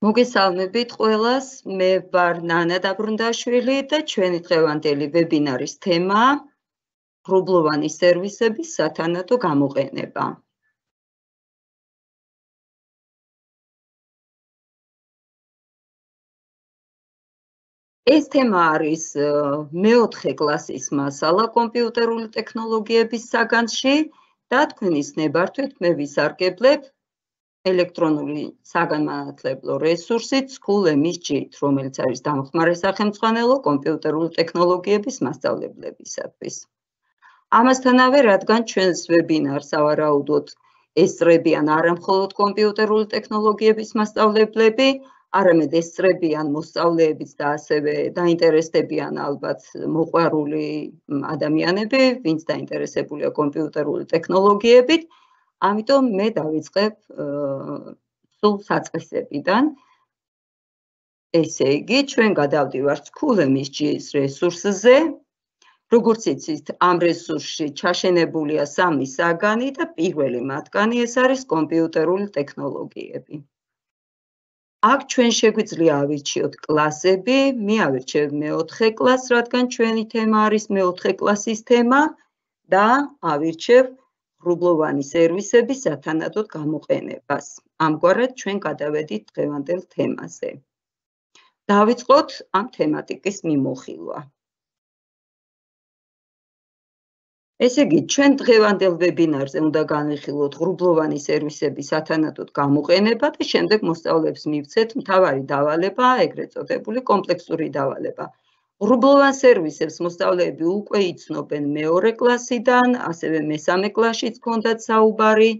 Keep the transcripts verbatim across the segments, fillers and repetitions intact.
მოგესალმებით ყველას, მე ვარ ნანა დაბრუნდაშვილი და ჩვენი დღევანდელი ვებინარის თემაა ღრუბლოვანი სერვისების სათანადო გამოყენება. ეს თემა არის მეოთხე კლასის მასალა კომპიუტერული ტექნოლოგიების საგანში და თქვენის ნებართვით მე ვისარგებლებ ელექტრონული საგანმანათლებლო რესურსით School ემ ის ჯი, რომელიც არის დამხმარე სახელმძღვანელო კომპიუტერული ტექნოლოგიების მასწავლებლებისათვის. ამასთანავე, რადგან ჩვენს ვებინარს სავარაუდოდ ესწრებიან არა მხოლოდ კომპიუტერული ტექნოლოგიების მასწავლებლები, არამედ ესწრებიან მოსწავლეებიც და ასევე დაინტერესდებიან ალბათ მოყვარული ადამიანები, ვინც დაინტერესებულია კომპიუტერული ტექნოლოგიებით. ამიტომ მე დავიწყებ სულ საწყისებიდან. ესე იგი, ჩვენ გადავდივართ School ემ ის ჯი-ის რესურსზე. როგორც იცით, ამ რესურსში ჩაშენებულია სამი საგანი და პირველი მათგანი ეს არის კომპიუტერული ტექნოლოგიები. აქ ჩვენ შეგვიძლია ავირჩიოთ კლასები, მე ავირჩევ მეოთხე კლასს, რადგან ჩვენი თემა არის მეოთხე კლასის თემა და ავირჩევ ღრუბლოვანი სერვისების სათანადოდ გამოყენებას. ამგვარად ჩვენ გადავედით დღევანდელ თემაზე. დავიწყოთ ამ თემატიკის მიმოხილვა. ესე იგი, ჩვენ დღევანდელ ვებინარზე უნდა განვიხილოთ ღრუბლოვანი სერვისების სათანადოდ გამოყენება და შემდეგ მოსწავლეებს მივცეთ მთავარი დავალება, ეგრეთ წოდებული კომპლექსური დავალება. ღრუბლოვან სერვისებს მოსწავლეები უკვე იცნობენ მეორე კლასიდან, ასევე მესამე კლასშიც ჰქონდათ საუბარი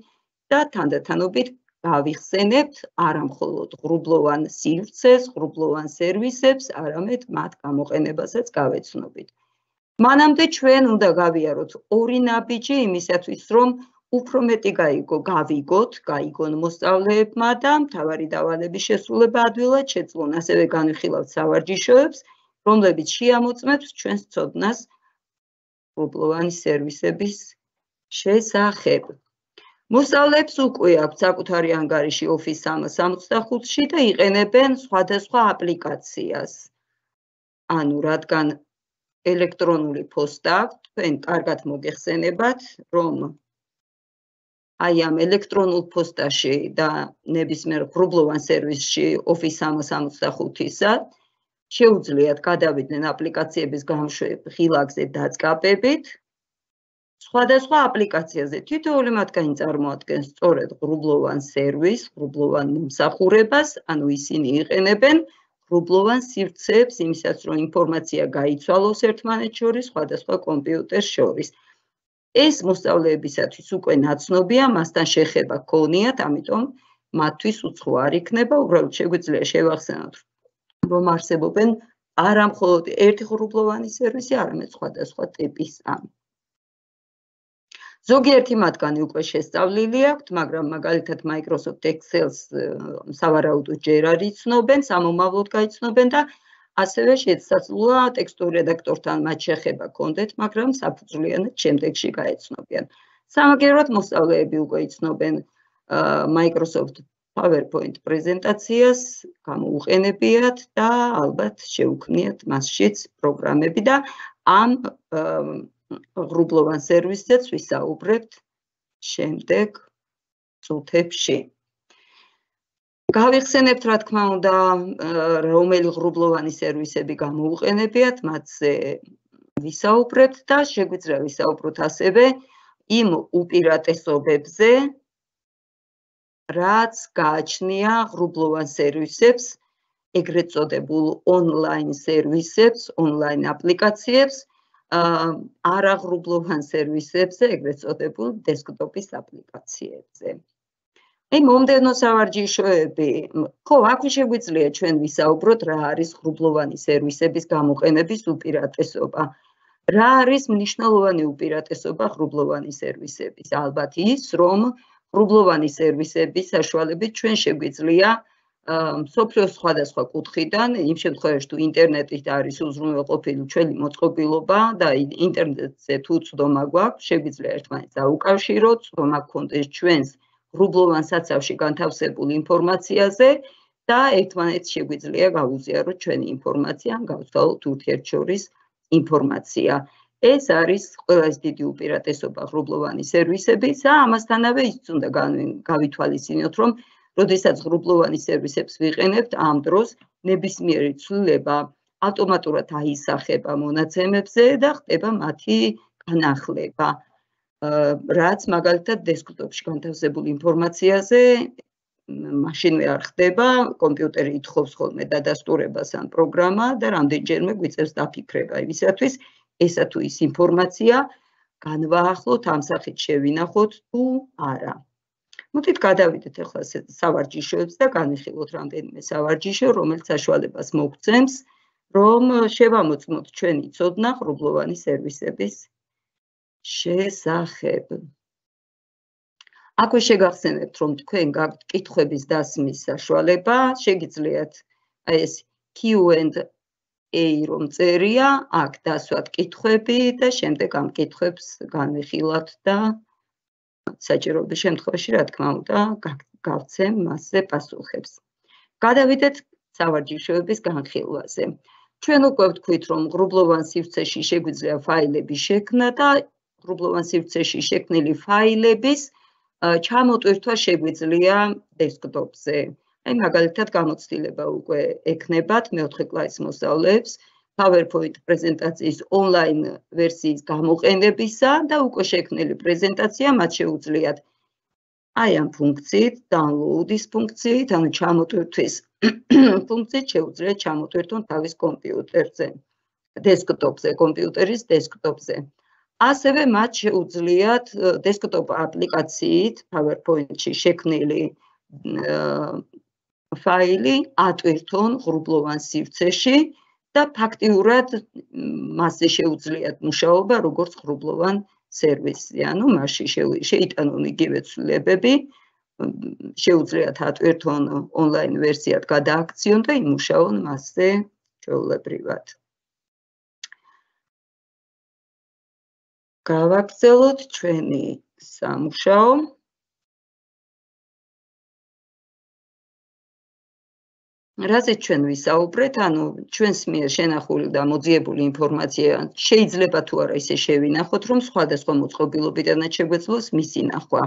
და თანდათანობით გავიხსენებთ არა მხოლოდ ღრუბლოვან სივრცეს, ღრუბლოვან სერვისებს, არამედ მათ გამოყენებასაც გავეცნობით. მანამდე ჩვენ უნდა გავიაროთ ორი ნაბიჯი იმისათვის, რომ უფრო მეტი გავიგოთ, გაიგონ მოსწავლეებმა და მთავარი დავალების შესრულება ადვილად შეძლონ, ასევე განვიხილავთ სავარჯიშოებს, რომლებიც შეამოწმებს ჩვენს ცოდნას ღრუბლოვანი სერვისების შესახებ. მოსწავლეებს უკვე აქვთ საკუთარი ანგარიში Office სამას სამოცდახუთში და იყენებენ სხვადასხვა აპლიკაციას. ანუ რადგან ელექტრონული პოსტა, თქვენ კარგად მოგეხსენებათ, რომ აი ამ ელექტრონულ პოსტაში და ნებისმიერ ღრუბლოვან სერვისში Office სამას სამოცდახუთისა შეუძლიათ გადავიდნენ აპლიკაციების გამოშვების ღილაკზე დაწყაბებით. სხვადასხვა აპლიკაციაზე თითოეული მათგანი წარმოადგენს სწორედ ღრუბლოვან სერვისს, ღრუბლოვან მომსახურებას, ანუ ისინი იყენებენ ღრუბლოვან სივრცეებს იმისათვის, რომ ინფორმაცია გაიცვალოს ერთმანეთს შორის, სხვადასხვა კომპიუტერს შორის. ეს მოსწავლეებისათვის უკვე ნაცნობია, მასთან შეხება გქონიათ, ამიტომ მათთვის უცხო არ იქნება, უბრალოდ შეგვიძლია შევახსენოთ, რომ არსებობენ არა მხოლოდ ერთი ღრუბლოვანი სერვისი, არამედ სხვადასხვა ტიპის ამ. ზოგიერთი მათგანი უკვე შესწავლილი აქვთ, მაგრამ მაგალითად Microsoft Excel-ს სავარაუდოდ ჯერ არ იცნობენ, სამომავლოდ გაიცნობენ და ასევე შესაძლოა ტექსტურ რედაქტორთან მათ შეხება გქონდეთ, მაგრამ საფუძვლიანად შემდეგში გაეცნობიან. სამაგეროდ მოსწავლეები უკვე იცნობენ Microsoft PowerPoint პრეზენტაციას, გამოუყენებიათ და ალბათ შეუქმნიათ მასშიც პროგრამები და ამ ღრუბლოვან სერვისზეც ვისაუბრებთ შემდეგ წუთებში. გავიხსენებთ, რა თქმა უნდა, რომელი ღრუბლოვანი სერვისები გამოუყენებიათ, მათზე ვისაუბრებთ და შეგვიძლია ვისაუბროთ ასევე იმ უპირატესობებზე, რაც გააჩნია ღრუბლოვან სერვისებს, ეგრეთ წოდებულ ონლაინ სერვისებს, ონლაინ აპლიკაციებს, არა ღრუბლოვან სერვისებზე, ეგრეთ წოდებულ დესკტოპის აპლიკაციებზე. აი, მომდევნო სავარჯიშოები, ხო, აქ შეგვიძლია ჩვენ ვისაუბროთ, რა არის ღრუბლოვანი სერვისების გამოყენების უპირატესობა. რა არის მნიშვნელოვანი უპირატესობა ღრუბლოვანი სერვისების? ალბათ ის, რომ ღრუბლოვანი სერვისების საშუალებით ჩვენ შეგვიძლია მსოფლიოს სხვადასხვა კუთხიდან, იმ შემთხვევაში თუ ინტერნეტით არის უზრუნველყოფილი ჩვენი მოწყობილობა და ინტერნეტზე თუ წვდომა გვაქვს, შეგვიძლია ერთმანეთს დაუკავშიროთ, წვდომა გქონდეს ჩვენს ღრუბლოვან საცავში განთავსებულ ინფორმაციაზე და ერთმანეთს შეგვიძლია გავუზიაროთ ჩვენი ინფორმაცია, ან გავცვალოთ ურთიერთშორის ინფორმაცია. ეს არის ყველაზე დიდი უპირატესობა ღრუბლოვანი სერვისების და ამასთანავე ის უნდა გავითვალისწინოთ, რომ როდესაც ღრუბლოვანი სერვისებს ვიყენებთ, ამ დროს ნებისმიერი ცვლილება ავტომატურად აისახება მონაცემებზე და ხდება მათი განახლება. რაც მაგალითად დესკტოპში განთავსებულ ინფორმაციაზე მაშინვე არ ხდება, კომპიუტერი ითხოვს ხოლმე დადასტურებას ან პროგრამა და რამდენჯერმე გვიწევს დაფიქრება იმისათვის, ესა თუ ის ინფორმაცია განვაახლოთ, ამ სახით შევინახოთ თუ არა. მოდით გადავიდეთ ახლა სავარჯიშოებს და განვიხილოთ რამდენიმე სავარჯიშო, რომელიც საშუალებას მოგცემს, რომ შევამოწმოთ ჩვენი ცოდნა ღრუბლოვანი სერვისების შესახებ. აქვე შეგახსენებთ, რომ თქვენ გაქვთ კითხვების დასმის საშუალება, შეგიძლიათ აი ეს Q and A რომ წერია, აქ დასვათ კითხვები და შემდეგ ამ კითხვებს განვიხილავთ და საჭიროების შემთხვევაში, რა თქმა უნდა, გავცემ მასზე პასუხებს. გადავიდეთ სავარჯიშოების განხილვაზე. ჩვენ უკვე ვთქვით, რომ ღრუბლოვან სივრცეში შეგვიძლია ფაილები შექმნა და ღრუბლოვან სივრცეში შექმნილი ფაილების ჩამოტვირთვა შეგვიძლია დესკტოპზე. აი მაგალითად გამოცდილება უკვე ექნებათ მეოთხე კლასის მოსწავლეებს PowerPoint პრეზენტაციის ონლაინ ვერსიის გამოყენებისა და უკვე შექმნილი პრეზენტაცია მათ შეუძლიათ აი ამ ფუნქციით, download-ის ფუნქციით, ანუ ჩამოტვირთვის ფუნქციით შეუძლიათ ჩამოტვირთონ თავის კომპიუტერზე, დესკტოპზე, კომპიუტერის დესკტოპზე. ასევე მათ შეუძლიათ დესკტოპ აპლიკაციით PowerPoint-ში შექმნილი ფაილი ატვირთონ ღრუბლოვან სივრცეში და ფაქტიურად მასზე შეუძლიათ მუშაობა როგორც ღრუბლოვან სერვისი, ანუ მასში შეიტანონ იგივე ცვლილებები, შეუძლიათ ატვირთონ ონლაინ ვერსიად გადააქციონ და იმუშაონ მასზე ჩვეულებრივად. გავაგრძელოთ ჩვენი სამუშაო. რაზეც ჩვენ ვისაუბრეთ, ანუ ჩვენს მიერ შენახული და მოძიებული ინფორმაცია შეიძლება თუ არა ისე შევინახოთ, რომ სხვადასხვა მოწყობილობიდანაც შეგვეძლოს მისი ნახვა.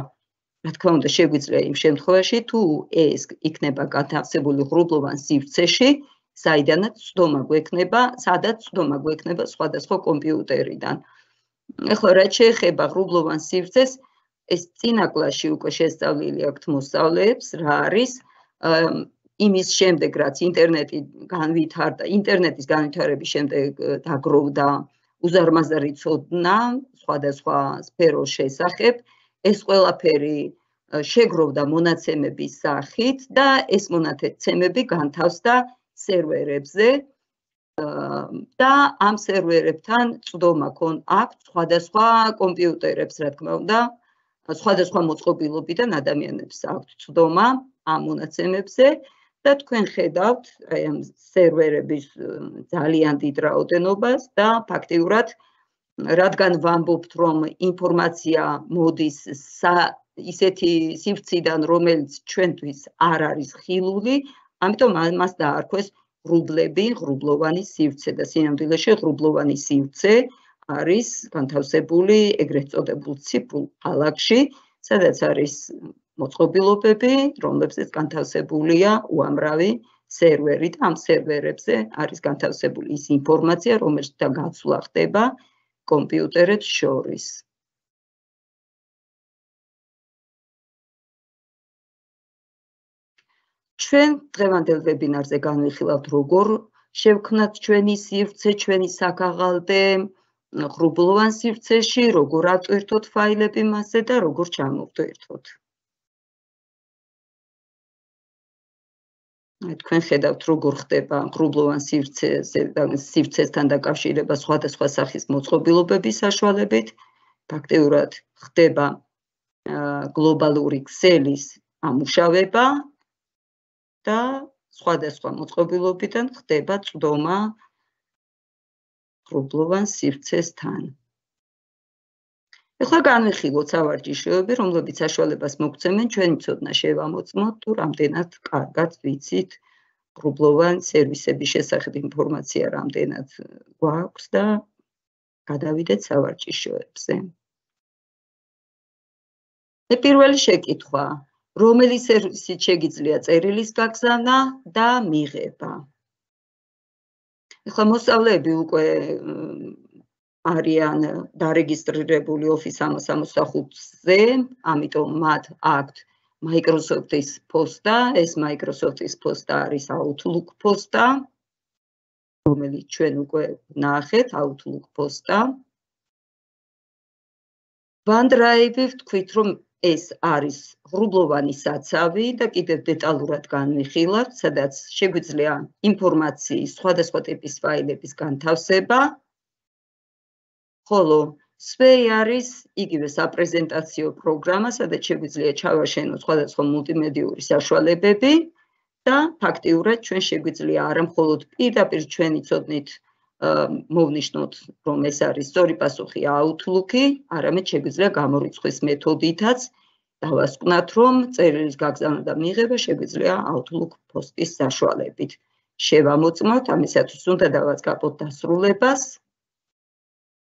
რა თქმა უნდა, შეგვიძლია იმ შემთხვევაში, თუ ეს იქნება განთავსებული ღრუბლოვან სივრცეში, საიდანაც ცდომა გვექნება, სადაც ცდომა გვექნება სხვადასხვა კომპიუტერიდან. ეხლა რაც შეეხება ღრუბლოვან სივრცეს, ეს წინა კლასში უკვე შესწავლილი აქვთ მოსწავლეებს, რა არის იმის შემდეგ, რაც ინტერნეტი განვითარდა, ინტერნეტის განვითარების შემდეგ დაგროვდა უზარმაზარი ცოდნა სხვადასხვა სფეროს შესახებ, ეს ყველაფერი შეგროვდა მონაცემების სახით და ეს მონაცემები განთავსდა სერვერებზე და ამ სერვერებთან წვდომა აქვს სხვადასხვა კომპიუტერებს, რა თქმა უნდა, სხვადასხვა მოწყობილობიდან ადამიანებს აქვთ წვდომა ამ მონაცემებზე და თქვენ ხედავთ აი ამ სერვერების ძალიან დიდ რაოდენობას და ფაქტიურად რადგან ვამბობთ, რომ ინფორმაცია მოდის ისეთი სივრციდან, რომელიც ჩვენთვის არ არის ხილული, ამიტომ მას დაარქვეს ღრუბლები, ღრუბლოვანი სივრცე და სინამდვილეში ღრუბლოვანი სივრცე არის განთავსებული ეგრეთ წოდებულ ციფრულ ქალაქში, სადაც არის მოწყობილობები, რომლებზეც განთავსებულია უამრავი სერვერი და ამ სერვერებზე არის განთავსებული ის ინფორმაცია, რომელშიც გაცვლა ხდება კომპიუტერებს შორის. ჩვენ დღევანდელ ვებინარზე განვიხილავთ, როგორ შევქმნათ ჩვენი სივრცე, ჩვენი საქაღალდე ღრუბლოვან სივრცეში, როგორ ატვირთოთ ფაილები მასზე და როგორ ჩამოვტვირთოთ. თქვენ ხედავთ, როგორ ხდება ღრუბლოვან სივრცესთან დაკავშირება სხვადასხვა სახის მოწყობილობების საშუალებით. ფაქტიურად ხდება გლობალური ქსელის ამუშავება და სხვადასხვა მოწყობილობიდან ხდება წვდომა ღრუბლოვან სივრცესთან. ეხლა განვიხილოთ სავარჯიშოები, რომლებიც საშუალებას მოგცემენ ჩვენი ცოდნა შევამოწმოთ თუ რამდენად კარგად ვიცით ღრუბლოვან სერვისების შესახებ ინფორმაცია რამდენად გვაქვს და გადავიდეთ სავარჯიშოებზე. პირველი შეკითხვა, რომელი სერვისით შეგიძლია წერილის გაგზავნა და მიღება? ეხლა მოსწავლეები უკვე არიან დარეგისტრირებული Office სამას სამოცდახუთზე, ამიტომ მათ აქვთ Microsoft-ის პოსტა, ეს Microsoft-ის პოსტა არის Outlook პოსტა, რომელიც ჩვენ უკვე ნახეთ, Outlook პოსტა. OneDrive-ი ვთქვით, რომ ეს არის ღრუბლოვანი საცავი და კიდევ დეტალურად განვიხილავთ, სადაც შეგვიძლია ინფორმაციის სხვადასხვა ტიპის ფაილების განთავსება, ხოლო Sway არის იგივე საპრეზენტაციო პროგრამა, სადაც შეგვიძლია ჩავაშენოთ სხვადასხვა მულტიმედიური საშუალებები და ფაქტიურად ჩვენ შეგვიძლია არა მხოლოდ პირდაპირ ჩვენი ცოდნით მოვნიშნოთ, რომ ეს არის სწორი პასუხი Outlook-ი, არამედ შეგვიძლია გამორიცხვის მეთოდითაც დავასკვნათ, რომ წერილის გაგზავნა და მიღება შეგვიძლია Outlook პოსტის საშუალებით. შევამოწმოთ, ამისათვის უნდა დავაწყაპოთ დასრულებას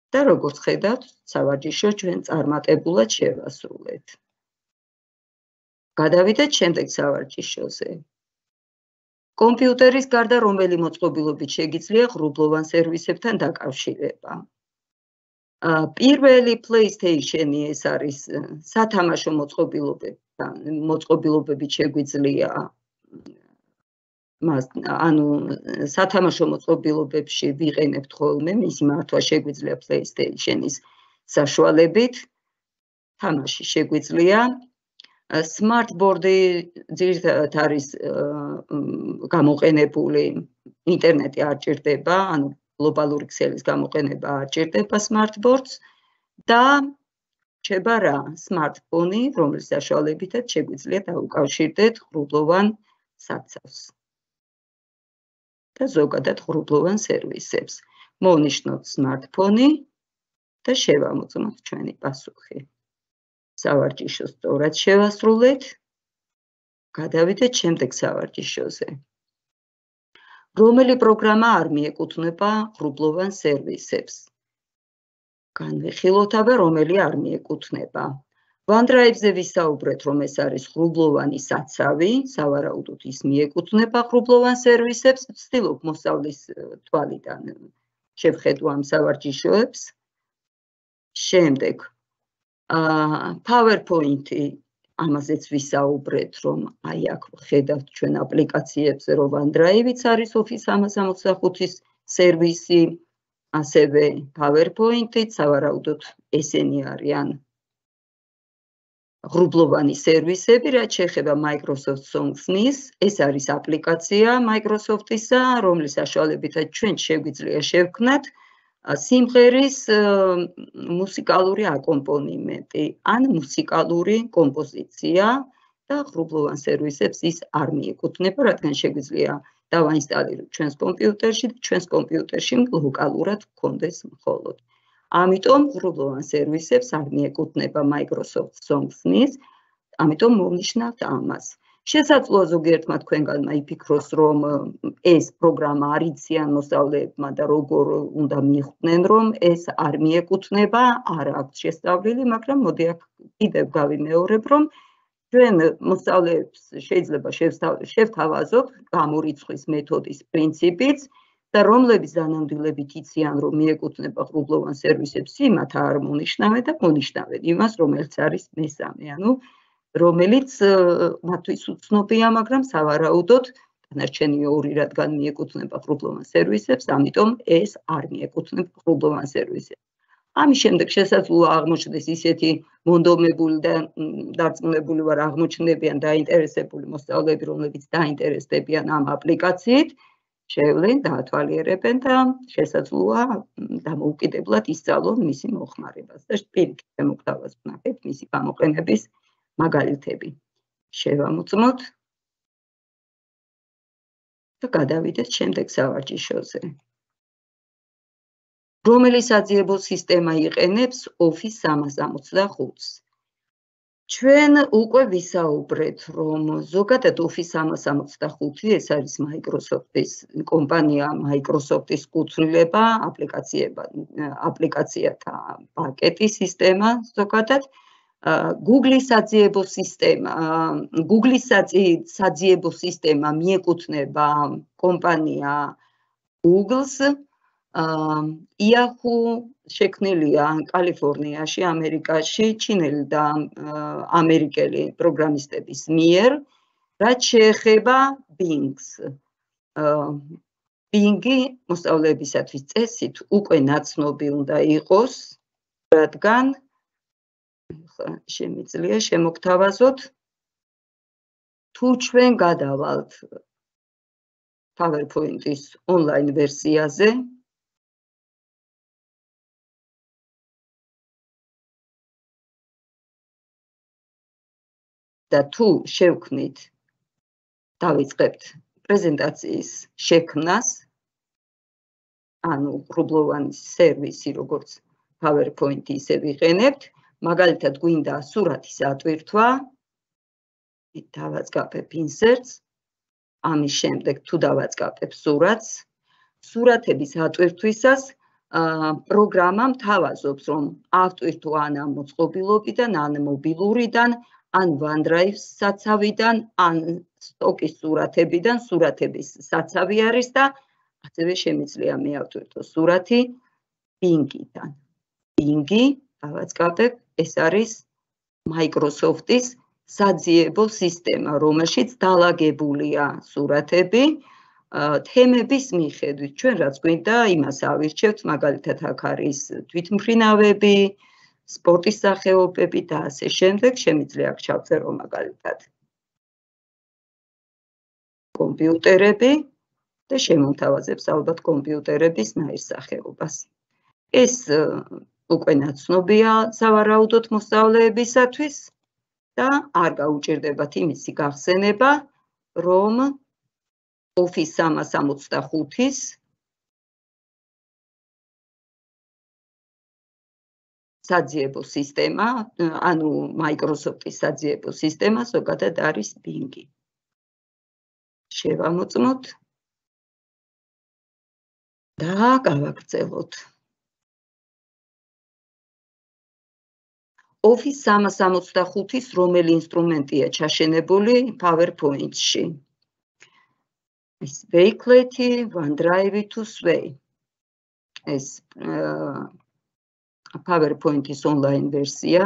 და როგორც ხედავთ, სავარჯიშო ჩვენ წარმატებულად შევასრულეთ. გადავიდეთ შემდეგ სავარჯიშოზე. კომპიუტერის გარდა რომელი მოწყობილობით შეგიძლია ღრუბლოვან სერვისებთან დაკავშირება? პირველი PlayStation-ი ეს არის სათამაშო მოწყობილობებით შეგვიძლია მას ანუ სათამაშო მოწყობილობებში ვიყენებთ ხოლმე, მისი მართვა შეგვიძლია PlayStation-ის საშუალებით, თამაში შეგვიძლია. Smartboard-ი ძირითადად არის გამოყენებული, ინტერნეტი არ ჭირდება, ანუ გლობალური ქსელის გამოყენება არ ჭირდება Smartboard-ს და რჩება რა? Smartphone-ი, რომლის საშუალებითაც შეგვიძლია დაუკავშირდეთ ღრუბლოვან საცავს და ზოგადად ღრუბლოვან სერვისებს. მოვნიშნოთ Smartphone-ი და შევამოწმოთ ჩვენი პასუხი. სავარჯიშო სწორად შევასრულეთ. გადავიდეთ შემდეგ სავარჯიშოზე. რომელი პროგრამა არ მიეკუთვნება ღრუბლოვან სერვისებს? განვიხილოთ აბა, რომელი არ მიეკუთვნება. OneDrive-ზე ვისაუბრეთ, რომ ეს არის ღრუბლოვანი საცავი, სავარაუდოდ ის მიეკუთვნება ღრუბლოვან სერვისებს, ვცდილობ მოსწავლის თვალიდან შევხედო ამ სავარჯიშოებს. შემდეგ PowerPoint-ი, ამაზეც ვისაუბრეთ, რომ აი აქ ხედავთ ჩვენ აპლიკაციებზე, რომ OneDrive-იც არის Office სამას სამოცდახუთის სერვისი, ასევე PowerPoint-იც, სავარაუდოდ ესენი არიან ღრუბლოვანი სერვისები, რაც შეეხება Microsoft Songs-nis, ეს არის აპლიკაცია Microsoft-ისა, რომლის საშუალებითაც ჩვენ შეგვიძლია შევქმნათ სიმღერის მუსიკალური აკომპონიმენტი, ან მუსიკალური კომპოზიცია და ღრუბლოვან სერვისებს ის არ მიეკუთვნება, რადგან შეგვიძლია დავაინსტალიროთ ჩვენს კომპიუტერში და ჩვენს კომპიუტერში ლოკალურად გქონდეს მხოლოდ. ამიტომ ღრუბლოვან სერვისებს არ მიეკუთვნება Microsoft Songs-nis, ამიტომ მოვნიშნავთ ამას. შესაძლოა ზოგიერთმა თქვენგანმა იფიქროს, რომ ეს პროგრამა არ იციან მოსწავლეებმა და როგორ უნდა მიხვდნენ, რომ ეს არ მიეკუთვნება, არ აქვს შესწავლილი, მაგრამ მოდი აქ კიდევ გავიმეორებ, რომ ჩვენ მოსწავლეებს შეიძლება შევთავაზოთ გამორიცხვის მეთოდის პრინციპიც და რომლების დანამდვილებით იციან, რომ მიეკუთვნება ღრუბლოვან სერვისებს, იმათ არ მონიშნავენ და მონიშნავენ იმას, რომელიც არის მესამე, ანუ რომელიც მათთვის უცნობია, მაგრამ სავარაუდოდ დანარჩენი ორი რადგან მიეკუთვნება ღრუბლოვან სერვისებს, ამიტომ ეს არ მიეკუთვნება ღრუბლოვან სერვისებს. ამის შემდეგ შესაძლოა აღმოჩნდეს ისეთი მონდომებული და დარწმუნებული ვარ აღმოჩნდებიან დაინტერესებული მოსწავლეები, რომლებიც დაინტერესდებიან ამ აპლიკაციით, შევლენ, დაათვალიერებენ და შესაძლოა დამოუკიდებლად ისწავლონ მისი მოხმარებას და პირიქით შემოგთავაზ ვნახეთ მისი გამოყენების მაგალითები. შევამოწმოთ და გადავიდეთ შემდეგ სავარჯიშოზე. რომელი საძიებო სისტემა იყენებს Office სამას სამოცდახუთს? ჩვენ უკვე ვისაუბრეთ, რომ ზოგადად Office სამას ორმოცდახუთი ეს არის Microsoft-ის კომპანია, Microsoft-ის კუთვნილება, აპლიკაციება, აპლიკაციათა პაკეტი, სისტემა ზოგადად. Google-ის საძიებო სისტემა, Google-ის საძიებო სისტემა მიეკუთვნება კომპანია Google-ს. Yahoo შექმნილია კალიფორნიაში, ამერიკაში, ჩინელი და ამერიკელი პროგრამისტების მიერ, რაც შეეხება Bing-ს. Bing-ი მოსწავლეებისათვის წესით უკვე ნაცნობი უნდა იყოს, რადგან შემიძლია შემოგთავაზოთ, თუ ჩვენ გადავალთ PowerPoint-ის online ვერსიაზე, და თუ შევქმნით, დავიწყებთ პრეზენტაციის შექმნას, ანუ ღრუბლოვანი სერვისი, როგორც PowerPoint-ი ისე ვიყენებთ, მაგალითად გვინდა სურათის ატვირთვა, დავაწყაპებ inserts, ამის შემდეგ თუ დავაწყაპებ სურათს, სურათების ატვირთვისას პროგრამამ თავაზობს, რომ ავტვირთო ან ამ მოწყობილობიდან, ან მობილურიდან, ან OneDrive საცავიდან, ან სტოკის სურათებიდან, სურათების საცავი არის და ასევე შემიძლია მეავტვირთო სურათი Bing-იდან. Bing-ი, დავაწყაპებ, ეს არის Microsoft-ის საძიებო სისტემა, რომელშიც დალაგებულია სურათები, თემების მიხედვით. ჩვენ რაც გვინდა, იმას ავირჩევთ, მაგალითად აქ არის თვითმფრინავები, სპორტის სახეობები და ასე შემდეგ, შემიძლია აქ ჩავწერო მაგალითად კომპიუტერები და შემომთავაზებს ალბათ კომპიუტერების ნაირსახეობას. ეს უკვე ნაცნობია სავარაუდოდ მოსწავლეებისათვის და არ გაუჭირდებათ იმისი გახსენება, რომ Office სამას ორმოცდახუთის საძიებო სისტემა, ანუ Microsoft-ის საძიებო სისტემა ზოგადად არის Bing-ი. შევამოწმოთ და გავაგრძელოთ. Office სამას ორმოცდახუთის რომელი ინსტრუმენტია ჩაშენებული PowerPoint-ში? ეს Wakelet-ი, OneDrive თუ Sway. ეს PowerPoint-ის online ვერსია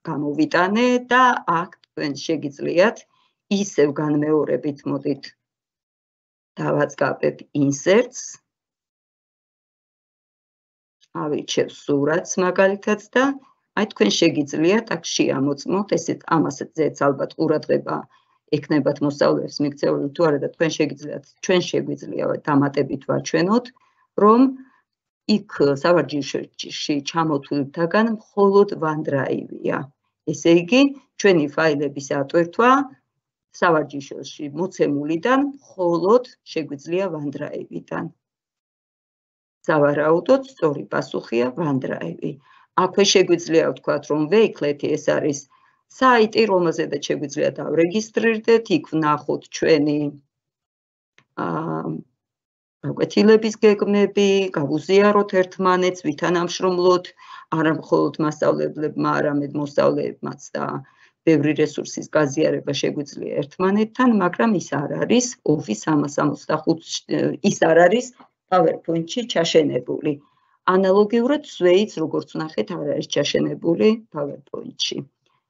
გამოვიტანე და აქ თქვენ შეგიძლიათ ისევ განმეორებით მოდით დავაწყაპებ inserts, ავირჩევ სურათს მაგალითად და აი თქვენ შეგიძლიათ აქ შეამოწმოთ, ესეთ ამასაც ალბათ ყურადღება ექნებათ მოსწავლეებს მიქცეული თუ არა და თქვენ შეგიძლიათ, ჩვენ შეგვიძლია დამატებით ვაჩვენოთ, რომ იქ სავარჯიშოში ჩამოთვლილთაგან მხოლოდ OneDrive-ია. ესე იგი, ჩვენი ფაილების ატვირთვა სავარჯიშოში მოცემულიდან მხოლოდ შეგვიძლია OneDrive-დან. სავარაუდოდ სწორი პასუხია OneDrive. აქვე შეგვიძლია ვთქვათ, რომ Wakelet-ი ეს არის საიტი, რომელზედაც შეგვიძლია დავრეგისტრირდეთ, იქ ვნახოთ ჩვენი გაკვეთილების გეგმები, გავუზიაროთ ერთმანეთს, ვითანამშრომლოთ, არა მხოლოდ მასწავლებლებმა, არამედ მოსწავლეებმაც და ბევრი რესურსის გაზიარება შეგვიძლია ერთმანეთთან, მაგრამ ის არ არის Office სამას ორმოცდახუთი, ის არ არის PowerPoint-ში ჩაშენებული. ანალოგიურად Sway-ც, როგორც ვნახეთ, არ არის ჩაშენებული PowerPoint-ში.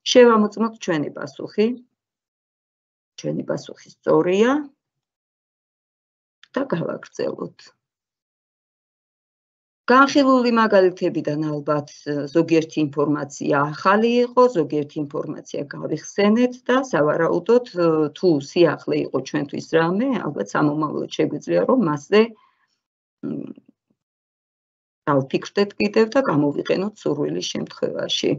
შევამოწმოთ ჩვენი პასუხი. ჩვენი პასუხი სწორია. და გავაგრძელოთ. განხილული მაგალითებიდან ალბათ ზოგიერთი ინფორმაცია ახალი იყო, ზოგიერთი ინფორმაცია გავიხსენეთ და სავარაუდოდ თუ სიახლე იყო ჩვენთვის რამე, ალბათ სამომავლოდ შეგვიძლია რომ მასზე დავფიქრდეთ კიდევ და გამოვიყენოთ სურვილის შემთხვევაში.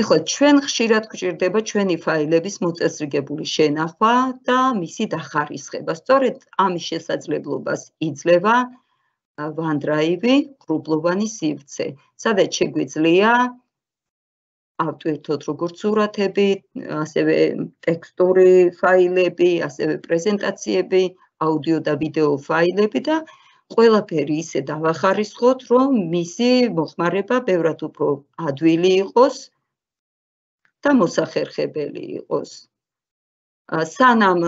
ეხლა ჩვენ ხშირად გვჭირდება ჩვენი ფაილების მოწესრიგებული შენახვა და მისი დახარისხება. სწორედ ამის შესაძლებლობას იძლევა OneDrive-ი, ღრუბლოვანი სივრცე, სადაც შეგვიძლია ავტვირთოთ როგორც სურათები, ასევე ტექსტური ფაილები, ასევე პრეზენტაციები, აუდიო და ვიდეო ფაილები და ყველაფერი ისე დავახარისხოთ, რომ მისი მოხმარება ბევრად უფრო ადვილი იყოს და მოსახერხებელი იყოს. სანამ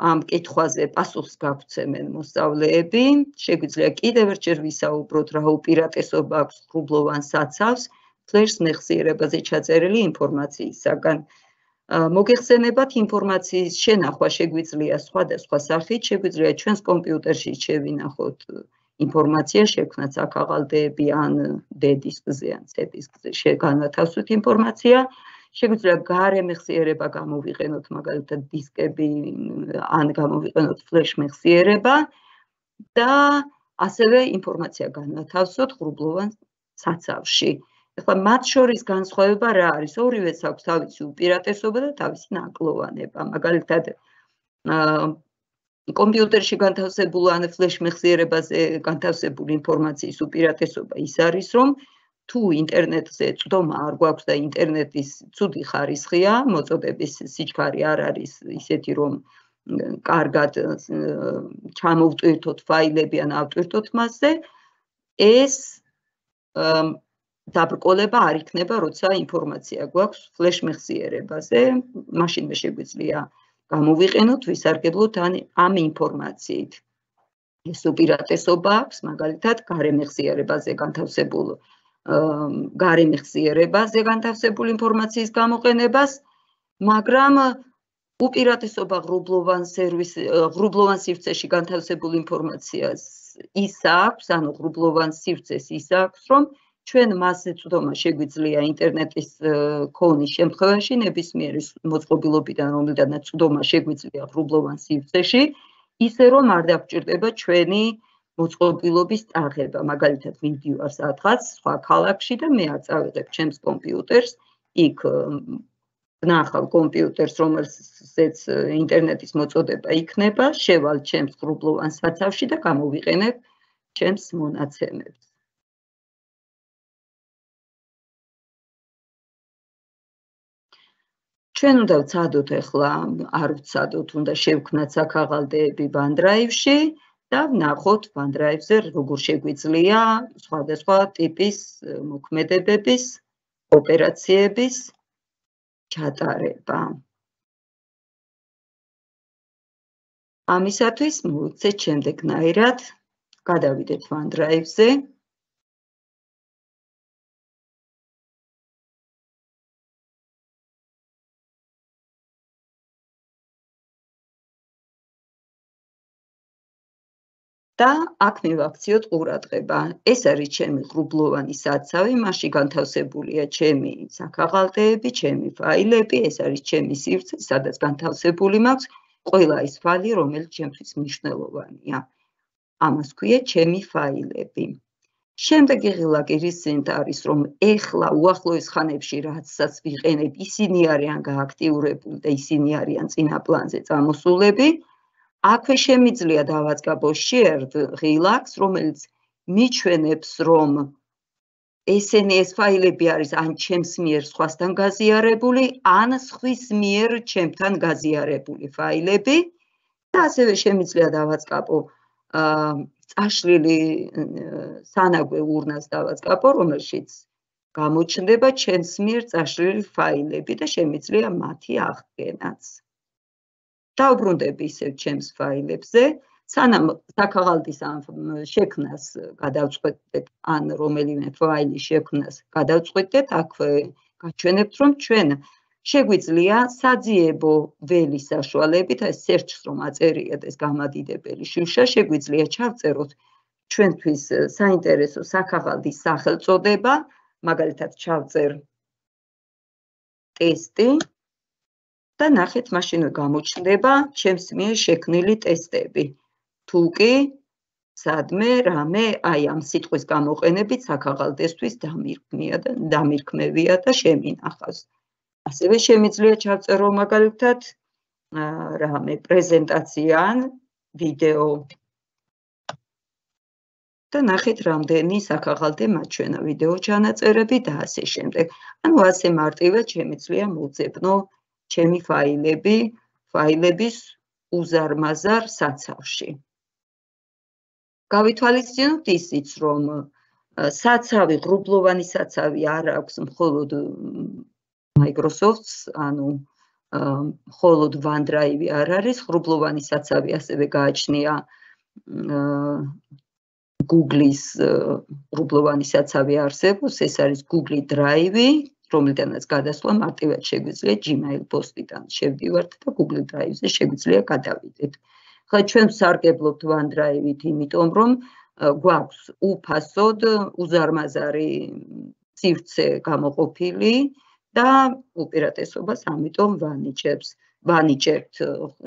ამ კითხვაზე პასუხს გაგვცემენ მოსწავლეები, შეგვიძლია კიდევ ერთჯერ ვისაუბროთ, რა უპირატესობა აქვს ღრუბლოვან საცავს ფლეშ მეხსიერებაზე ჩაწერილი ინფორმაციისაგან. მოგეხსენებათ, ინფორმაციის შენახვა შეგვიძლია სხვადასხვა სახით, შეგვიძლია ჩვენს კომპიუტერში შევინახოთ ინფორმაცია, შევქმნათ საქაღალდეები ან D დისკზე ან C დისკზე შეგანათავსოთ ინფორმაცია. შეგვიძლია გარე მეხსიერება გამოვიყენოთ, მაგალითად დისკები ან გამოვიყენოთ ფლეშ მეხსიერება და ასევე ინფორმაცია განვათავსოთ ღრუბლოვან საცავში. ეხლა მათ შორის განსხვავება რა არის? ორივეს აქვს თავისი უპირატესობა და თავისი ნაკლოვანება. მაგალითად, კომპიუტერში განთავსებული ან ფლეშ მეხსიერებაზე განთავსებული ინფორმაციის უპირატესობა ის არის, რომ თუ ინტერნეტზე წვდომა არ გვაქვს და ინტერნეტის ცუდი ხარისხია, მოწოდების სიჩქარე არ არის ისეთი, რომ კარგად ჩამოვტვირთოთ ფაილები ან ავტვირთოთ მასზე, ეს დაბრკოლება არ იქნება, როცა ინფორმაცია გვაქვს ფლეშ მეხსიერებაზე, მაშინვე შეგვიძლია გამოვიყენოთ, ვისარგებლოთ ამ ინფორმაციით. ეს უპირატესობა აქვს, მაგალითად, გარე მეხსიერებაზე განთავსებულ გარე მეხსიერებაზე განთავსებული ინფორმაციის გამოყენებას, მაგრამ უპირატესობა ღრუბლოვან სერვის ღრუბლოვან სივრცეში განთავსებული ინფორმაციას ის აქვს, ანუ ღრუბლოვან სივრცეს ის აქვს, რომ ჩვენ მასზე წვდომა შეგვიძლია ინტერნეტის ქონის შემთხვევაში, ნებისმიერი მოწყობილობიდან, რომლიდანაც წვდომა შეგვიძლია ღრუბლოვან სივრცეში, ისე რომ არ დაგვჭირდება ჩვენი მოწყობილობის ტარღება, მაგალითად ვიდივარ სადღაც სხვა ქალაქში და მე არ წავიღებ ჩემს კომპიუტერს, იქ ვნახავ კომპიუტერს, რომელზეც ინტერნეტის მოწოდება იქნება, შევალ ჩემს ღრუბლოვან საცავში და გამოვიყენებ ჩემს მონაცემებს. ჩვენ უნდა ვცადოთ ახლა, არ ვცადოთ, უნდა შევქმნათ საქაღალდეები OneDrive-ში და ვნახოთ OneDrive-ზე როგორ შეგვიძლია სხვადასხვა ტიპის მოქმედებების, ოპერაციების ჩატარება. ამისათვის მოვიქცეთ შემდეგნაირად, გადავიდეთ OneDrive-ზე. და აქ მივაქციოთ ყურადღება. ეს არის ჩემი ღრუბლოვანი საცავი, მასში განთავსებულია ჩემი საქაღალდეები, ჩემი ფაილები, ეს არის ჩემი სივრცე, სადაც განთავსებული მაქვს ყველა ის ფაილი, რომელიც ჩემთვის მნიშვნელოვანია. ამას ქვია ჩემი ფაილები. შემდეგი ღილაკი რისზეც არის, რომ ეხლა უახლოეს ხანებში რაცაც ვიყენებ, ისინი არიან გააქტიურებული და ისინი არიან წინა პლანზე წამოსულები. აქვე შემიძლია დავაწყაბო shared ღილაკს, რომელიც მიჩვენებს, რომ ესენი ეს ფაილები არის ან ჩემს მიერ სხვასთან გაზიარებული, ან სხვის მიერ ჩემთან გაზიარებული ფაილები და ასევე შემიძლია დავაწყაბო წაშლილი სანაგვე ურნას დავაწყაბო, რომელშიც გამოჩნდება ჩემს მიერ წაშლილი ფაილები და შემიძლია მათი აღდგენაც. დავბრუნდები ისევ ჩემს ფაილებზე, სანამ საქაღალდის შექმნას გადავწყვეტეთ, ან რომელიმე ფაილის შექმნას გადავწყვეტეთ, აქვე გაჩვენებთ, რომ ჩვენ შეგვიძლია საძიებო ველის საშუალებით, ეს search-ს რომ აწერიეთ ეს გამადიდებელი შუშა, შეგვიძლია ჩავწეროთ ჩვენთვის საინტერესო საქაღალდის სახელწოდება, მაგალითად ჩავწერ ტესტი და ნახეთ, მაშინვე გამოჩნდება ჩემს მიერ შექმნილი ტესტები. თუ კი სადმე რამე აი ამ სიტყვის გამოყენებით საქაღალდესთვის დამირქმევია და შემინახავს. ასევე შემიძლია ჩავწერო მაგალითად რამე პრეზენტაცია ან ვიდეო. და ნახეთ რამდენი საქაღალდე მაჩვენა ვიდეო ჩანაწერები და ასე შემდეგ. ანუ ასე მარტივად შემიძლია მოძებნო ჩემი ფაილები, ფაილების უზარმაზარ საცავში. გავითვალისწინოთ ისიც, რომ საცავი, ღრუბლოვანი საცავი არ აქვს მხოლოდ Microsoft-ს, ანუ მხოლოდ OneDrive არ არის, ღრუბლოვანი საცავი ასევე გააჩნია Google-ის ღრუბლოვანი საცავი არსებობს, ეს არის Google Drive, რომლიდანაც გადასვლა მარტივად შეგვიძლია Gmail პოსტიდან შევდივართ და Google Drive-ზე შეგვიძლია გადავიდეთ. ხა ჩვენ ვსარგებლობთ OneDrive-ით, იმიტომ რომ გვაქვს უფასოდ უზარმაზარი სივრცე გამოყოფილი და უპირატესობას ამიტომ ვანიჭებს. ვანიჭებთ,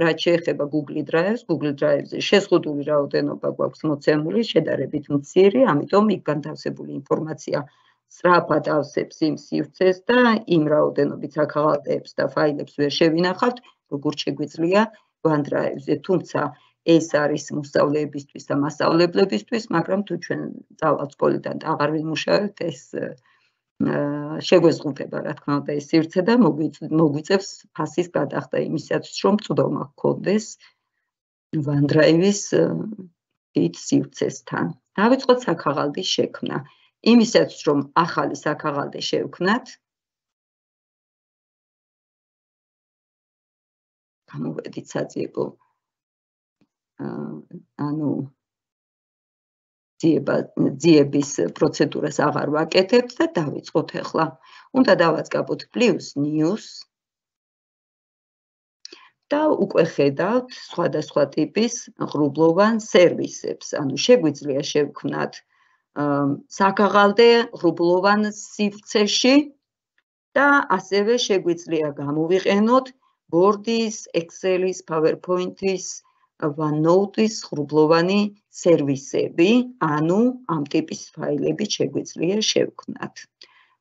რაც შეეხება Google Drive-ს, Google Drive-ზე შეზღუდული რაოდენობა გვაქვს მოცემული, შედარებით მცირე, ამიტომ იქ განთავსებული ინფორმაცია სწრაფად ავსებს იმ სივრცეს და იმ რაოდენობით საქაღალდეებს და ფაილებს ვერ შევინახავთ, როგორც შეგვიძლია OneDrive-ზე. თუმცა ეს არის მოსწავლეებისთვის და მასწავლებლებისთვის, მაგრამ თუ ჩვენ წავალთ სკოლიდან და აღარ ვიმუშავებთ, ეს შეგვეზღუდება, რა თქმა უნდა, ეს სივრცე და მოგვიწევს ფასის გადახდა იმისათვის, რომ წვდომა გქონდეს OneDrive-ის დიდ სივრცესთან. დავიწყოთ საქაღალდის შექმნა. იმისათვის, რომ ახალი საქაღალდე შევქმნათ, გამოვედით საძიებო, ანუ ძიების პროცედურას აღარ ვაკეთებთ და დავიწყოთ ახლა. უნდა დავაწყაბოთ plus news და უკვე ხედავთ სხვადასხვა ტიპის ღრუბლოვან სერვისებს. ანუ შეგვიძლია შევქმნათ საქაღალდე ღრუბლოვან სივრცეში და ასევე შეგვიძლია გამოვიყენოთ Word-ის, Excel-ის, PowerPoint-ის, OneNote-ის ღრუბლოვანი სერვისები, ანუ ამ ტიპის ფაილები შეგვიძლია შევქმნათ.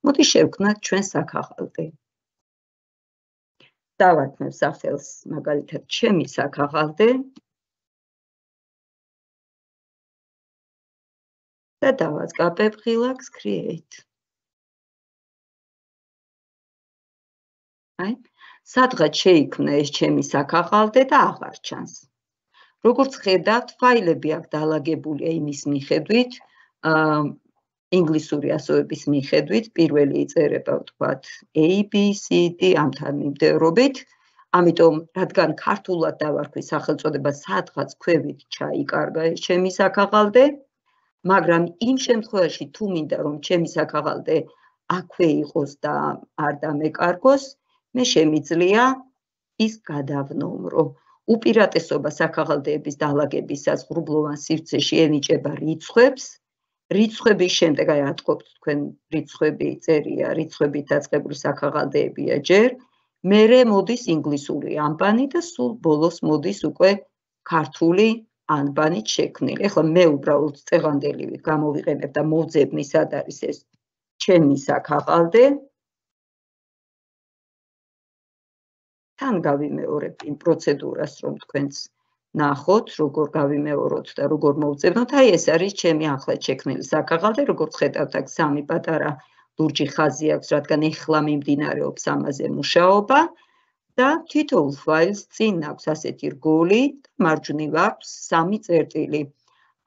მოდი შევქმნათ ჩვენ საქაღალდე. დავარქმევ სახელს, მაგალითად, ჩემი საქაღალდე და დავაწყაბებ ღილაკს create. აი, სადღაც შეიქმნა ეს ჩემი საქაღალდე და აღარ ჩანს. როგორც ხედავთ, ფაილები აქ დალაგებულია იმის მიხედვით, ინგლისური ასოების მიხედვით, პირველი იწერება ვთქვათ A, B, C, D ამთან მიმდევრობით, ამიტომ რადგან ქართულად დავარქვი სახელწოდება, სადღაც ქვევით ჩაიკარგა ეს ჩემი საქაღალდე, მაგრამ იმ შემთხვევაში თუ მინდა რომ ჩემი საქაღალდე აქვე იყოს და არ დამეკარგოს, მე შემიძლია ის გადავნომრო. უპირატესობა საქაღალდეების დალაგებისას ღრუბლოვან სივრცეში ენიჭება რიცხვებს. რიცხვების შემდეგ აი ატყობთ თქვენ რიცხვები წერია, რიცხვებით დაწყებული საქაღალდეებია ჯერ, მერე მოდის ინგლისური ანბანი და სულ ბოლოს მოდის უკვე ქართული ანბანით შექმნილი. ეხლა მე უბრალოდ წეღანდელივით გამოვიყენებ და მოვძებნი სად არის ეს ჩემი საქაღალდე. თან გავიმეორებ იმ პროცედურას, რომ თქვენც ნახოთ, როგორ გავიმეოროთ და როგორ მოვძებნოთ. აი ეს არის ჩემი ახლად შექმნილი საქაღალდე, როგორც ხედავთ, აქ სამი პატარა ლურჯი ხაზი აქვს, რადგან ეხლა მიმდინარეობს ამაზე მუშაობა და თითოეულ ფაილს წინ აქვს ასეთი რგოლი და მარჯვნივ აქვს სამი წერტილი.